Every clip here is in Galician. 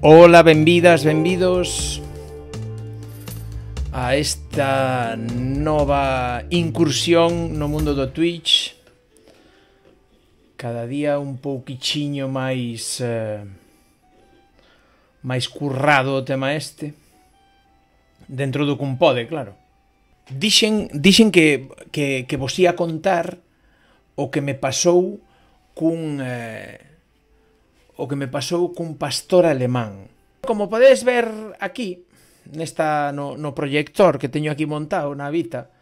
Ola, benvidas, benvidos a esta nova incursión no mundo do Twitch. Cada día un pouquichiño máis currado o tema este. Dentro do que un pode, claro. Dixen que vos ia contar o que me pasou cun pastor alemán. Como podedes ver aquí, no proyector que teño aquí montado na Vita,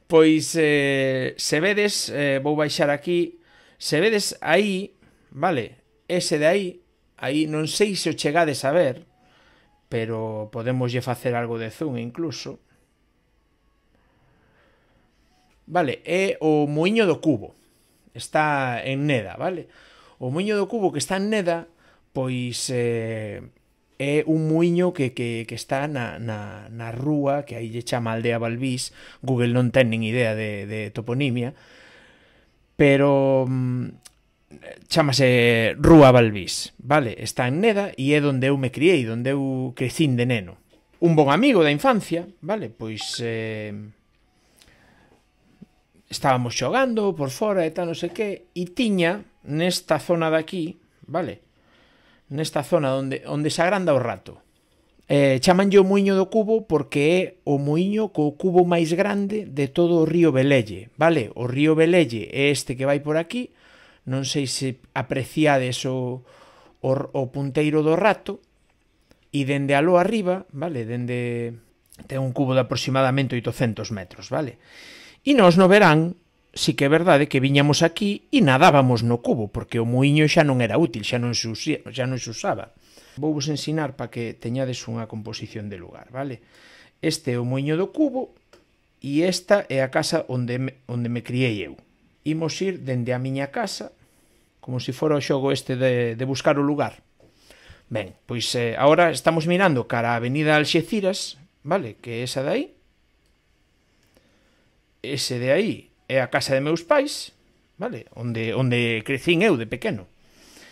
pois se vedes, vou baixar aquí, se vedes aí, vale, ese de aí non sei se o chegades a ver, pero podemoslle facer algo de zoom incluso. Vale, é o muiño do cubo. Está en Neda, vale? O muiño do cubo que está en Neda, pois é un muiño que está na rúa, que aí lle chama Aldea Balbís. Google non ten nin idea de toponimia, pero chámase Rúa Balbís, vale? Está en Neda e é onde eu me criei, onde eu crecín de neno. Un bon amigo da infancia, vale? Pois estábamos xogando por fora e tal, non sei que, e tiña nesta zona de aquí, vale? Nesta zona onde se agranda o rato. Chamanlle o muiño do cubo porque é o muiño co cubo máis grande de todo o río Velelle, vale? O río Velelle é este que vai por aquí, non sei se apreciades o punteiro do rato, e dende aló arriba, vale? Ten un cubo de aproximadamente 800 metros, vale? E nós no verán, si que é verdade que viñamos aquí e nadábamos no cubo, porque o muiño xa non era útil, xa non se usaba. Vou vos ensinar para que teñades unha composición de lugar, vale? Este é o muiño do cubo e esta é a casa onde me criei eu. Imos ir dende a miña casa, como se fora o xogo este de buscar o lugar. Ben, pois agora estamos mirando cara a Avenida Alxeciras, vale? Que é esa de aí. Ese de aí é a casa de meus pais, vale? Onde crecín eu de pequeno.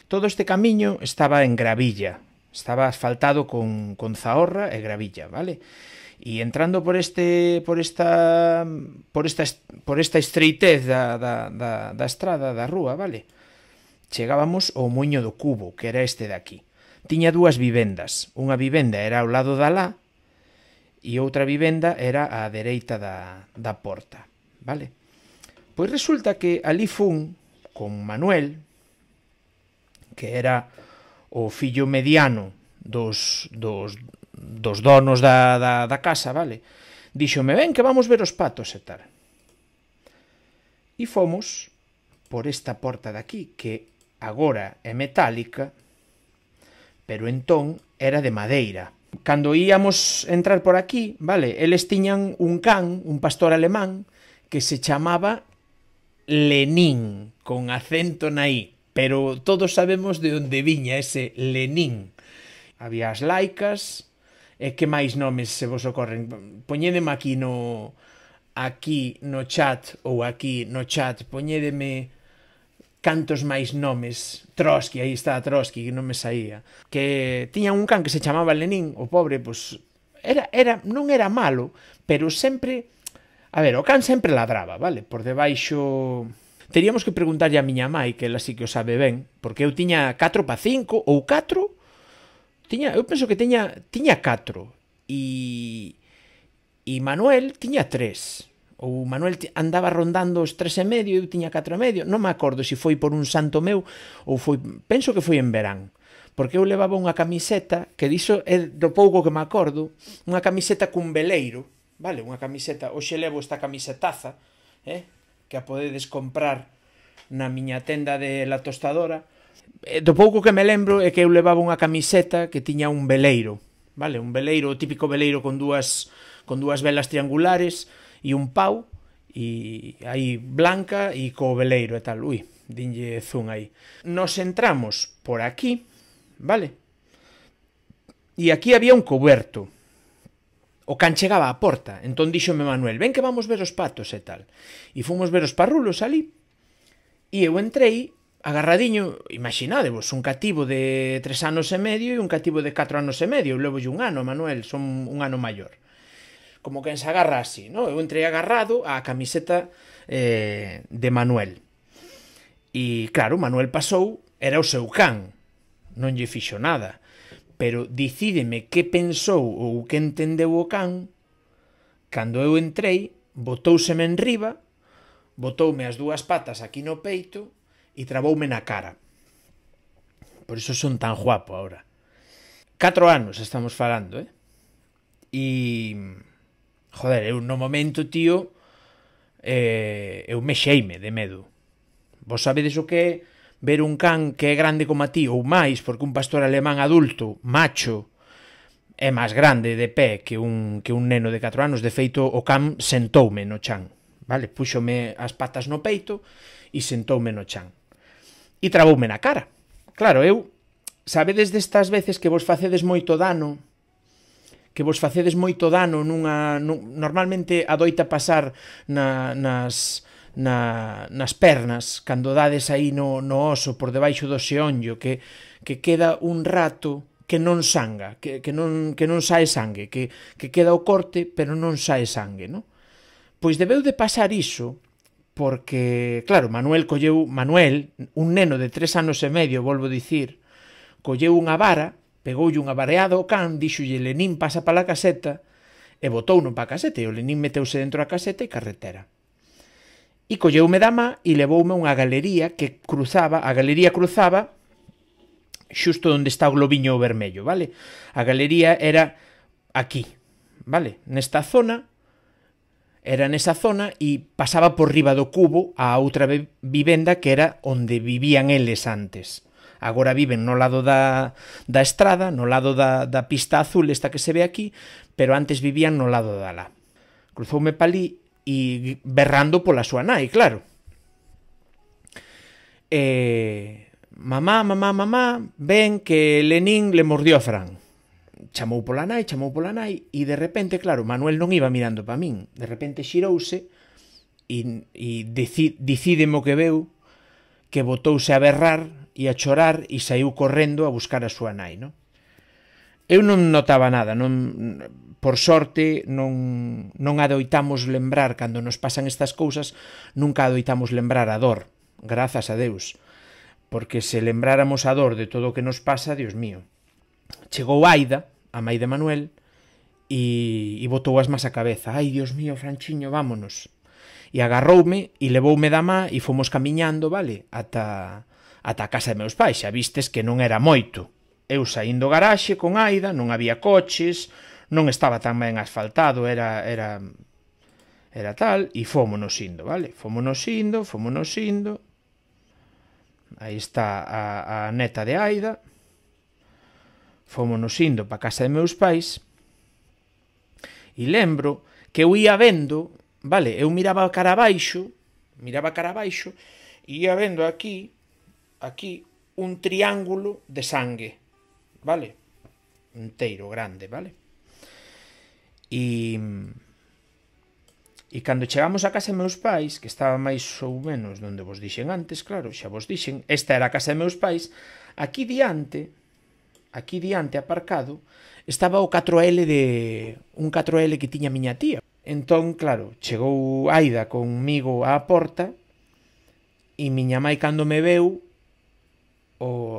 Todo este camiño estaba en gravilla, estaba asfaltado con zahorra e gravilla, vale? E entrando por esta estreitez da estrada, da rúa, vale? Chegábamos ao muiño do cubo, que era este de aquí. Tiña dúas vivendas. Unha vivenda era ao lado da lá e outra vivenda era á dereita da porta, vale? Pois resulta que ali fun con Manuel, que era o fillo mediano dos donos da casa, vale? Díxome, ven que vamos ver os patos e tal. E fomos por esta porta de aquí, que agora é metálica, pero entón era de madeira. Cando íamos entrar por aquí, vale, eles tiñan un can, un pastor alemán, que se chamaba Lenín, con acento na I, pero todos sabemos de onde viña ese Lenín. Había as laicas, e que máis nomes se vos ocorren? Poñédeme aquí no chat, ou aquí no chat, poñédeme cantos máis nomes. Trotsky, aí está Trotsky, que non me saía. Que tiña un can que se chamaba Lenín, o pobre, pois, non era malo, pero sempre, a ver, o can sempre ladraba, vale? Por debaixo, teríamos que preguntarlle a miña mai, que ela sí que o sabe ben, porque eu tiña 4 pa 5, ou 4, eu penso que tiña 4, e Manuel tiña 3, ou Manuel andaba rondando os 3,5 e eu tiña 4,5, non me acordo se foi por un santo meu ou foi, penso que foi en verán, porque eu levaba unha camiseta, que diso é do pouco que me acordo, unha camiseta cun veleiro, vale, unha camiseta, hoxe levo esta camisetaza, que a podedes comprar na miña tenda de La Tostadora. Do pouco que me lembro é que eu levaba unha camiseta que tiña un veleiro, vale, un veleiro, o típico veleiro con dúas velas triangulares, e un pau, e aí blanca, e co veleiro e tal. Ui, dinlle zoom aí. Nos entramos por aquí, vale? E aquí había un coberto. O can chegaba á porta, entón díxome Manuel, ven que vamos ver os patos e tal. E fomos ver os parrulos ali, e eu entrei agarradiño, imaginadevos, un cativo de 3 anos e medio e un cativo de 4 anos e medio. Eu levo un ano, Manuel, son un ano maior. Como quen se agarra así, no? Eu entrei agarrado á camiseta de Manuel. E, claro, Manuel pasou, era o seu can, non lle fixo nada. Pero dicídeme que pensou ou que entendeu o can cando eu entrei, botóuseme en riba, botoume as dúas patas aquí no peito e traboume na cara. Por iso son tan guapo ahora. 4 anos estamos falando, E... joder, eu no momento, tío, eu mexeime de medo. Vos sabedes o que é ver un can que é grande como a ti ou máis, porque un pastor alemán adulto, macho, é máis grande de pé que un neno de 4 anos. De feito, o can sentoume no chan, vale? Púxome as patas no peito e sentoume no chan. E traboume na cara. Claro, eu, sabedes destas veces que vos facedes moito dano, normalmente adoita pasar nas pernas, cando dades aí no oso, por debaixo do xeonllo, que queda un rato que non sanga, que non sae sangue, que queda o corte, pero non sae sangue, non? Pois debeu de pasar iso, porque, claro, Manuel, un neno de 3 anos e medio, volvo dicir, colleu unha vara, pegoulle unha vareada ao can, díxolle: Lenín, pasa pa la caseta, e botouno pa caseta, e o Lenín meteuse dentro da caseta e carretera. E colleume da má e levoume a unha galería que cruzaba, xusto onde está o globiño vermello, vale? A galería era aquí, vale? Nesa zona e pasaba por riba do cubo a outra vivenda que era onde vivían eles antes. Agora viven no lado da estrada, no lado da pista azul, esta que se ve aquí, pero antes vivían no lado da lá. Cruzoume pa ali e berrando pola súa nai, claro. Mamá, ven que Lenín le mordió a Fran. Chamou pola nai, e de repente, claro, Manuel non iba mirando pa min. De repente xirouse e dicídeme o que veu, que botouse a berrar e a chorar e saiu correndo a buscar a súa nai, non? Eu non notaba nada, por sorte non adoitamos lembrar, cando nos pasan estas cousas, nunca adoitamos lembrar a dor, grazas a Deus, porque se lembráramos a dor de todo o que nos pasa, Dios mío. Chegou Aida, a mai de Manuel, e botou as más a cabeza. Ai, Dios mío, Franchiño, vámonos. E agarroume e levoume da má e fomos camiñando, vale, ata a casa de meus pais. Xa vistes que non era moito. Eu saindo do garaxe con Aida, non había coches, non estaba tan ben asfaltado, era tal, e fómonos indo, vale? Fómonos indo. Aí está a neta de Aida. Fómonos indo pa casa de meus pais. E lembro que eu ia vendo, vale, eu miraba cara abaixo, e ia vendo aquí, un triángulo de sangue, vale? Inteiro, grande, vale? E cando chegamos a casa de meus pais, que estaba máis ou menos onde vos dixen antes, claro, xa vos dixen, esta era a casa de meus pais, aquí diante aparcado, estaba o 4L un 4L que tiña miña tía. Entón, claro, chegou Aida conmigo á porta e miña mai, cando me veu,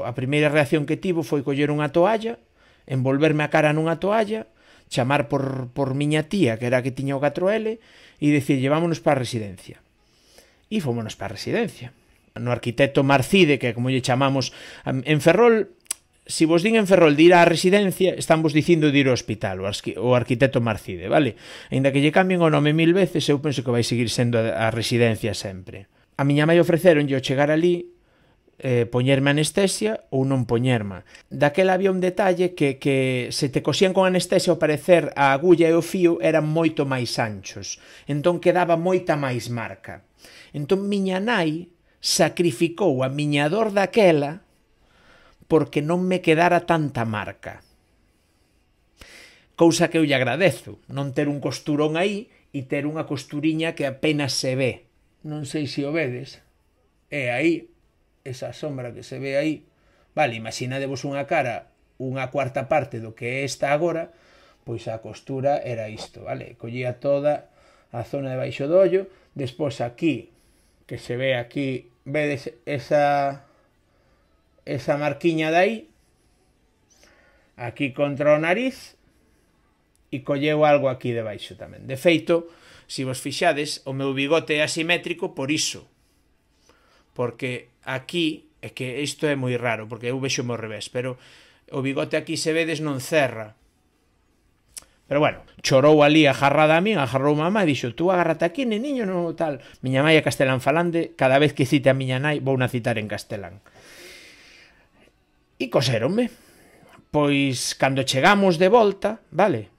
a primeira reacción que tivo foi coller unha toalla, envolverme a cara nunha toalla, chamar por miña tía, que era a que tiña o 4L, e dicirlle: vámonos para a residencia. E fomos para a residencia. No arquitecto Marcide, que como lle chamamos en Ferrol, si vos din en Ferrol de ir á residencia, están vos dicindo de ir ao hospital, o arquitecto Marcide, vale? Ainda que lle cambien o nome 1000 veces, eu penso que vai seguir sendo a residencia sempre. A miña mai ofreceronlle ao chegar ali poñerme anestesia ou non poñerma. Daquela había un detalle que se te cosían con anestesia, ao parecer a agulla e o fío eran moito máis anchos, entón quedaba moita máis marca. Entón miña nai sacrificou a miña dor daquela porque non me quedara tanta marca. Cousa que eu lle agradezo, non ter un costurón aí e ter unha costuriña que apenas se ve. Non sei se o vedes. É aí. esa sombra que se ve aí, vale, imaginadevos unha cara, unha cuarta parte do que é esta agora, pois a costura era isto, vale, collía toda a zona de baixo do ollo, despois aquí, que se ve aquí, vedes esa marquiña de aí, aquí contra o nariz, e colleu algo aquí debaixo tamén. De feito, se vos fixades, o meu bigote é asimétrico por iso, porque aquí, é que isto é moi raro, porque eu vexo ao revés, pero o bigote aquí se vedes non cerra. Pero bueno, chorou ali agarrada a min, agarrou mamá e dixo, tú agárrate aquí, neniño, no tal. Miña mãe é castelán falante, cada vez que cite a miña nai vou na citar en castelán. E coséronme. Pois, cando chegamos de volta, vale,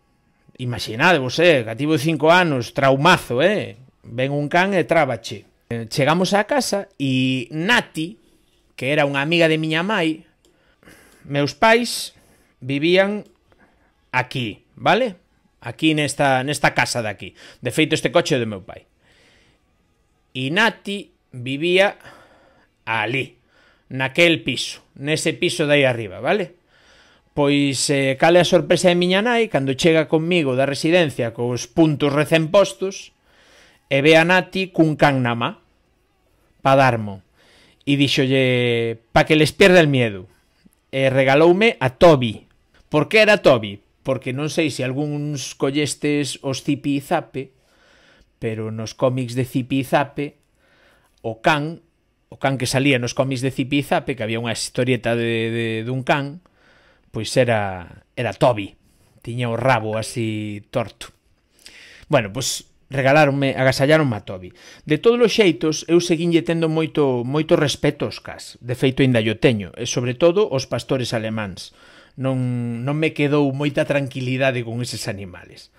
imaginadevos, cativo de 5 anos, traumazo, ven un can e trábache. Chegamos á casa e Nati, que era unha amiga de miña mãe, meus pais vivían aquí, vale? Aquí nesta casa de aquí. De feito, este coche é do meu pai. E Nati vivía ali, naquel piso, nese piso de aí arriba, vale? Pois, cale a sorpresa de miña nai, cando chega conmigo da residencia cos puntos recén postos, e ve a Nati cun can na má, pa darmo. E dixolle, pa que les pierda el miedo. E regaloume a Toby. Por que era Toby? Porque non sei se algúns collestes os Zipi e Zape, pero nos cómics de Zipi e Zape, o can que salía nos cómics de Zipi e Zape, que había unha historieta dun can, pois era Toby. Tiña o rabo así torto. Bueno, pois agasallaronme a Toby. De todos os xeitos, eu seguinlle tendo moito respeto aos cas. De feito, ainda yo teño. E, sobre todo, os pastores alemáns. Non me quedou moita tranquilidade con eses animales.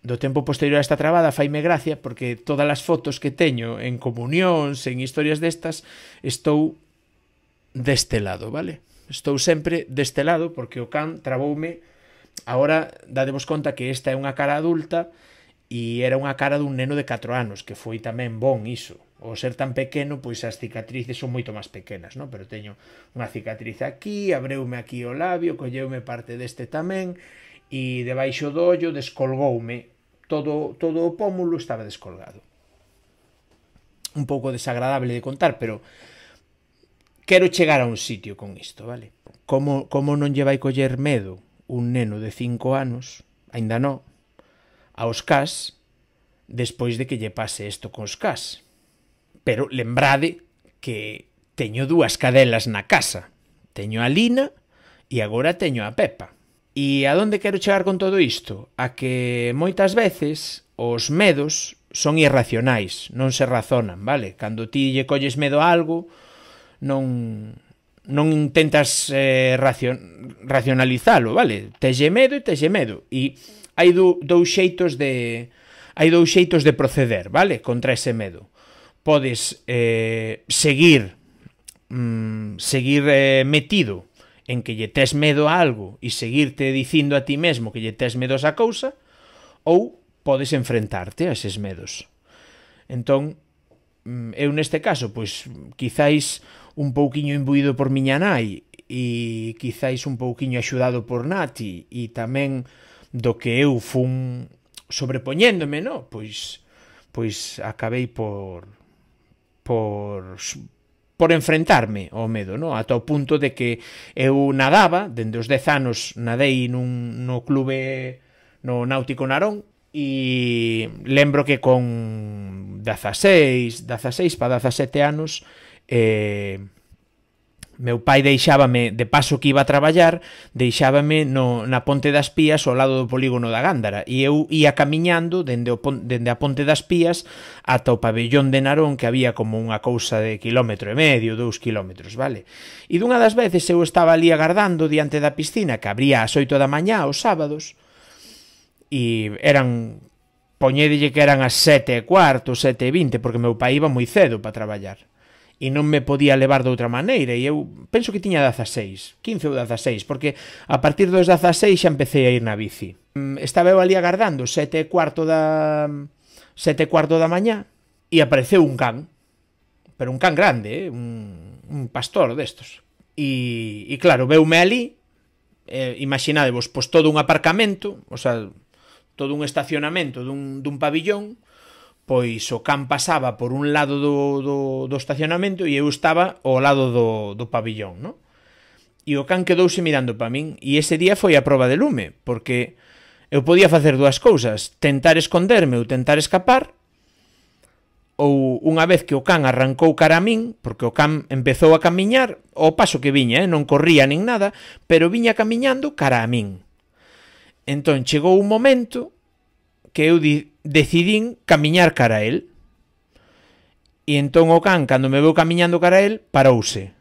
Do tempo posterior a esta trabada faime gracia porque todas as fotos que teño en comunións, en historias destas, estou deste lado, vale? Estou sempre deste lado porque o can traboume. Agora, dadevos conta que esta é unha cara adulta e era unha cara dun neno de 4 anos, que foi tamén bon iso. O ser tan pequeno, pois as cicatrices son moito máis pequenas, non? Pero teño unha cicatriz aquí, abreume aquí o labio, colleume parte deste tamén, e debaixo do ollo descolgoume. Todo o pómulo estaba descolgado. Un pouco desagradable de contar, pero quero chegar a un sitio con isto, vale? Como non lle vai coller medo un neno de 5 anos, aínda non, aos cas, despois de que lle pase isto cos cas. Pero lembrade que teño 2 cadelas na casa. Teño a Lina e agora teño a Pepa. E a onde quero chegar con todo isto? A que moitas veces os medos son irracionais, non se razonan, vale? Cando ti lle colles medo a algo, non intentas racionalizalo, vale? Telle medo e telle medo. E hai dous xeitos de proceder, vale? Contra ese medo. Podes seguir metido en que lle tes medo a algo e seguirte dicindo a ti mesmo que lle tes medo a esa cousa, ou podes enfrentarte a eses medos. Entón, eu neste caso, pois, quizáis un pouquiño imbuído por miña nai e quizáis un pouquiño axudado por Nati e tamén do que eu fun sobrepoñéndome, no? Pois acabei por enfrentarme ao medo, no? Ata o punto de que eu nadaba, dende os 10 anos nadei no clube no Náutico Narón, e lembro que con 16 para 17 anos meu pai deixábame, de paso que iba a traballar, deixábame na Ponte das Pías ao lado do polígono da Gándara, e eu ia camiñando dende a Ponte das Pías ata o pabellón de Narón, que había como unha cousa de 1,5 km, 2 km, vale? E dunha das veces eu estaba ali agardando diante da piscina, que abría ás 8 da mañá os sábados, e poñédelle que eran as 7:15, 7:20, porque meu pai iba moi cedo para traballar. E non me podía levar de outra maneira, e eu penso que tiña 16, 15 ou 16, porque a partir dos 16 xa empecé a ir na bici. Estaba eu ali agardando 7:15 da mañá, e apareceu un can, pero un can grande, un un pastor destos. E claro, veume ali, imaginadevos, pois todo un aparcamento, o sea, todo un estacionamento dun pabillón, pois o can pasaba por un lado do estacionamento e eu estaba ao lado do pabillón, non? E o can quedouse mirando para min, e ese día foi a proba de lume, porque eu podía facer dúas cousas, tentar esconderme ou tentar escapar, ou unha vez que o can arrancou cara a min, porque o can empezou a camiñar ao paso que viña, non corría nin nada, pero viña camiñando cara a min. Entón chegou un momento que eu decidín camiñar cara a él. E entón o can, cando me veu camiñando cara a él, parouse.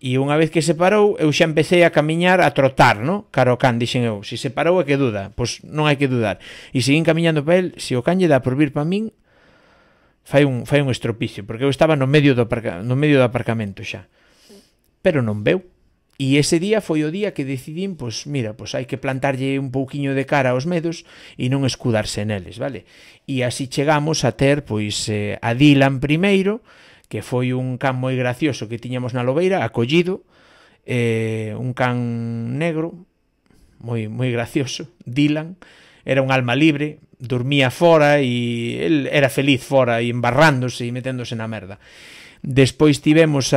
E unha vez que se parou, eu xa empecé a camiñar, a trotar, no? Cara ao can, dixen eu. Se se parou é que duda, pois non hai que dudar. E seguín camiñando para él, se o can lle dá por vir para min, fai un estropicio, porque eu estaba no medio do aparcamento xa. Pero non veu. E ese día foi o día que decidín, pois mira, pois hai que plantarlle un pouquiño de cara aos medos e non escudarse neles, vale? E así chegamos a ter, pois, a Dylan primeiro, que foi un can moi gracioso que tiñamos na lobeira, acollido, un can negro, moi gracioso, Dylan, era un alma libre, dormía fora e el era feliz fora e embarrándose e meténdose na merda. Despois tivemos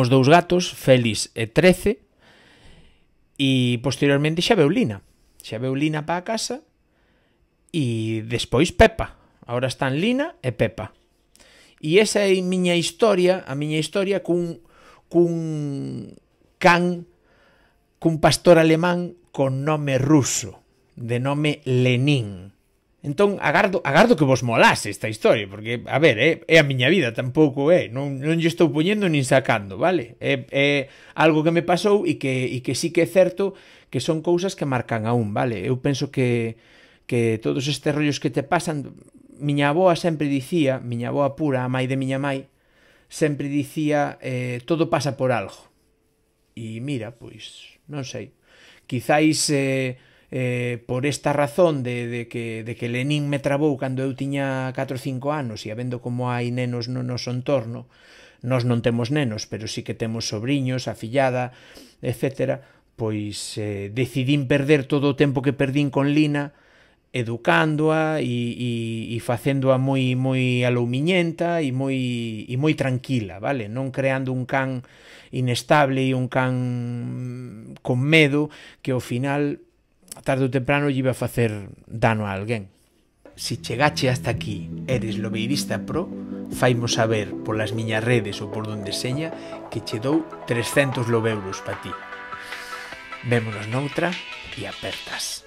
dous gatos, Félix e 13, e posteriormente xa veu Lina para a casa, e despois Pepa. Ahora están Lina e Pepa. E esa é a miña historia cun pastor alemán con nome ruso, de nome Lenin. Entón, agardo que vos molase esta historia, porque, a ver, é a miña vida, tampouco non lle estou poñendo nin sacando, vale? É algo que me pasou e que sí que é certo que son cousas que marcan aún, vale? Eu penso que todos estes rollos que te pasan, miña avoa sempre dicía, miña avoa pura, a mai de miña mai, sempre dicía, todo pasa por algo. E mira, pois, non sei, quizáis por esta razón de que Lenin me trabou cando eu tiña 4 ou 5 anos e habendo como hai nenos no noso entorno, nós non temos nenos, pero sí que temos sobriños, afillada, etc., pois decidín perder todo o tempo que perdín con Lina educándoa e facéndoa moi aloumiñenta e moi tranquila, vale? Non creando un can inestable e un can con medo que ao final, tarde ou temprano, lle iba a facer dano a alguén. Si chegache hasta aquí, eres lobeirista pro, faimo saber polas miñas redes ou por donde seña que che dou 300 lobeuros pa ti. Vémonos noutra e apertas.